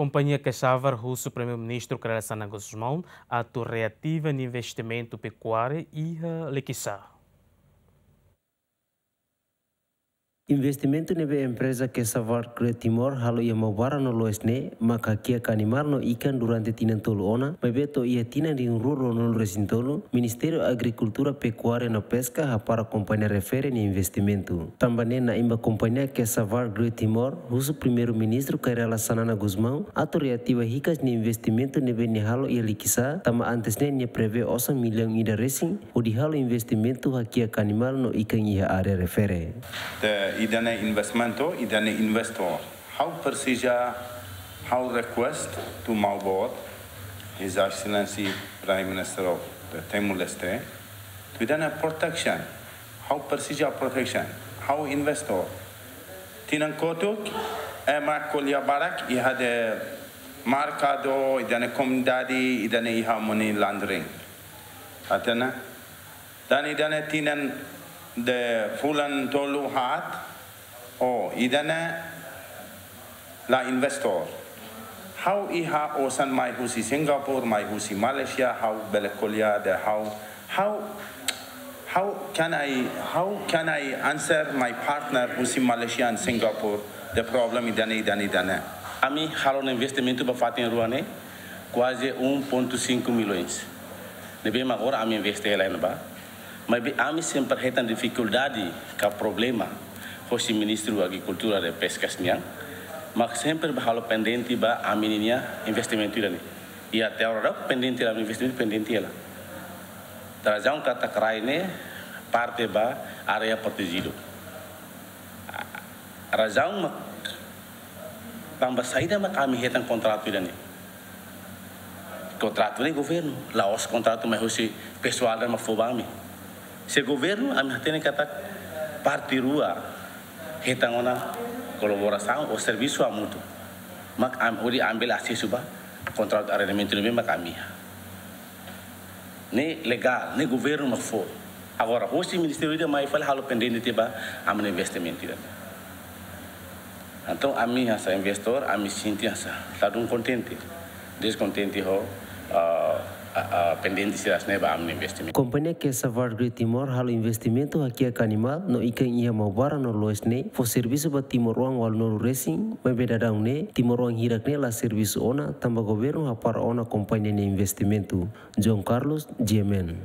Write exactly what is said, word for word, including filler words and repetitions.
Kompañia Casavar husu Primeiru-Ministru Kay Rala Xanana Gusmão atu reativa nia investimentu pekuária iha Likisá. Investimentu ne'ebé empreza Casavar Great Timor halo iha Maubara no Loes ne'e, mak hakiak animál no ikan durante tinan tolu ona, maibé to'o iha tinan rihun rua ruanulu resin tolu, Ministériu Agrikultura, Pekuária no Peska hapara kompañia refere nia investimentu. Tanba ne'e na'in ba kompañia Casavar Great Timor husu Primeiru-Ministru Kay Rala Xanana Gusmão atu reativa hikas nia investimentu ne'ebé nia halo iha Likisá, tanba antes ne'e nia prevee osan millaun ida resin hodi halo investimentu hakiak animál no ikan iha área refere. Te ida-ne'e investimentu, ida-ne'e investor. Ha'u presiza, ha'u request to Maubot, His Excellency Prime Minister of the Timor-Leste, to ida-ne'e protection. Ha'u presiza protection. Ha'u investor. Tinan kotuk, ema ko'alia barak iha de merkadu, ida-ne'e komunidade, ida-ne'e iha money laundering. Hatene? Tan ida-ne'e tinan de fulan tolu haat, oh, ida-ne'e la investor. Ha'u iha osan mai husi Singapura, mai husi Malaysia, ha'u bele ko'alia de ha'u, how, how can I, how can I answer my partner husi Malaysia and Singapore the problem ida-ne'e, ida-ne'e, ida-ne'e? Ami halo ona investimentu ba fatin rua ne'e, kuaze um ponto cinco milhões. Ne'ebé mak agora ami investe hela iha ne'ebá. Maibé ami sempre hetan difikuldade ka problema hosi Ministériu Agrikultura no Peskas nian, mak sempre bá halo pendente ba ami-nia investimentu ida-ne'e. I até agora daudaun pendente hela, investimentu pendente hela. Razaun katak rai ne'e parte ba área protejidu. Razaun mak tanba saida mak ami hetan kontratu ida-ne'e? Kontratu ne'e governu, la'ós kontratu mai husi pesoál ida mak fó ba ami. Se governu, ami hatene katak parte rua hetan ona kolaborasaun ou servisu hamutuk. Mak ami, hodi ami bele asesu ba kontratu arrendamentu ne'ebé mak ami iha. Ne'e legál, ne'e governu mak fó. Agora, hosi ministériu ida mai fali halo pendente tiha ba ami-nia investimentu ida. Entaun, ami hanesan investor, ami sente hanesan ladún kontente. Deskontente ho, ah, ah, ah, pendente sira hanesan ne'e ba ami-nia investimentu. Kompañia Casavar Great Timor halo investimentu hakiak animál no ikan iha Maubara no Loes ne'e, fó servisu ba timoroan ualunulu resin, maibé daudaun ne'e, timoroan hirak ne'e la servisu ona, tanba governu hapara ona kompañia nia investimentu. João Carlos, G M N.